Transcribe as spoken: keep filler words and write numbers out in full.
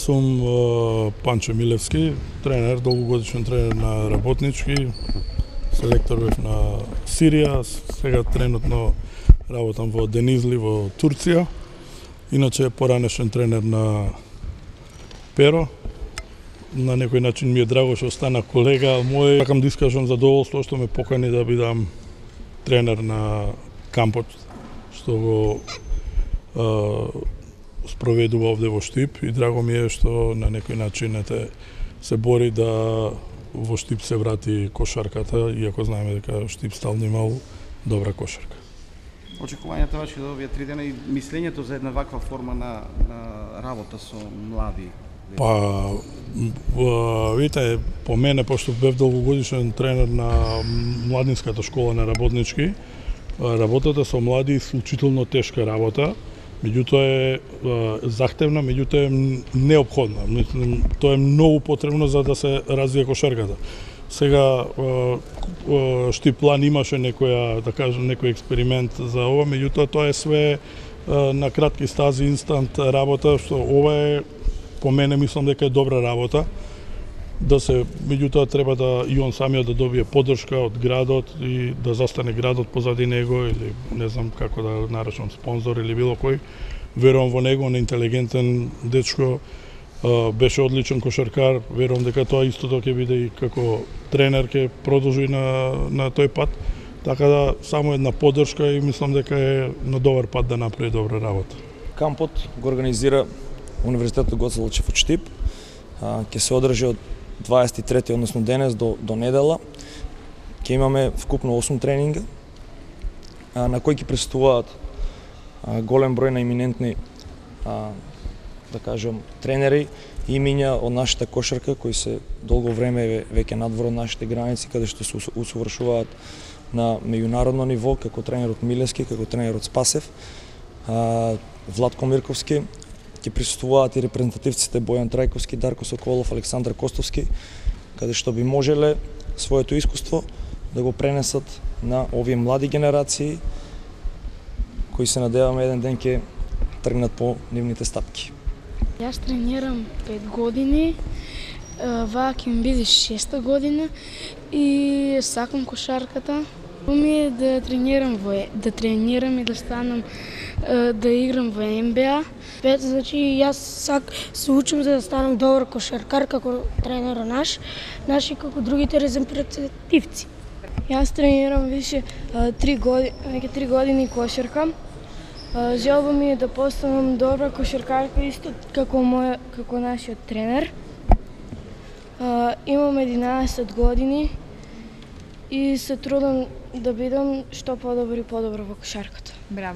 сум Панчо Милевски, тренер, долгогодишен тренер на Работнички, селектор бев на Сирија, сега тренутно работам во Денизли во Турција. Иначе поранешен тренер на Перо. На некој начин ми е драго што стана колега мој. Сакам да искажам задоволство што ме покани да бидам тренер на кампот што го е, спроведува овде во Штип, и драго ми е што на некој начин ете се бори да во Штип се врати кошарката, иако знаеме дека Штип стално имал добра кошарка. Очекувањата ваши за овие три дена и мислењето за една ваква форма на, на работа со млади? Па, видите, по мене, пошто бев долгогодишен тренер на младинската школа на Работнички, работата со млади е исклучително тешка работа, меѓутоа е захтевна, меѓутоа е неопходна. Мислам, тоа е многу потребно за да се развие кошарката. Сега Штип план имаше некоја, да кажем, некој експеримент за ова, меѓутоа тоа е све на кратки стази, инстант работа, што ова е, по мене, мислам дека е добра работа. Да се, меѓутоа треба да и он самиот да добие поддршка од градот и да застане градот позади него, или не знам како да наречам, спонзор или било кој. Верувам во него, он е интелигентен дечко, беше одличен кошаркар, верувам дека тоа истото ќе биде и како тренер, ќе продолжи на, на тој пат. Така да, само една поддршка и мислам дека е на добар пат да направи добра работа. Кампот го организира Универзитетот Гоце Делчев од Штип. Ќе се одржи од дваесет и трети, односно денес до, до недела. Ќе имаме вкупно осум тренинга, на кои ќе присуствуваат голем број на иминентни, да кажем, тренери и имиња од нашата кошарка, кои се долго време веќе надвор од нашите граници, каде што се усовршуваат на меѓународно ниво, како тренерот Милевски, како тренерот Спасев, Владко Мирковски. Ќе присуствуваат и репрезентативците Бојан Трајковски, Дарко Соколов, Александар Костовски, каде што би можеле своето искуство да го пренесат на овие млади генерации, кои се надеваме еден ден ќе тргнат по нивните стапки. Јас тренирам пет години, ваа ќе ми биде шеста година и сакам кошарката. Ми е да тренирам во да тренирам и да станам да играм во Н Б А. Значи јас сак се учам за да станам добар кошаркар како тренер наш, наши како другите репрезентативци. Јас тренирам више три години, веќе три години кошарка. Желба ми е да постанам добра кошаркарка исто како мој како нашиот тренер. Имам единаесет години и се трудам да бидам што подобро и подобро во кошарката. Браво.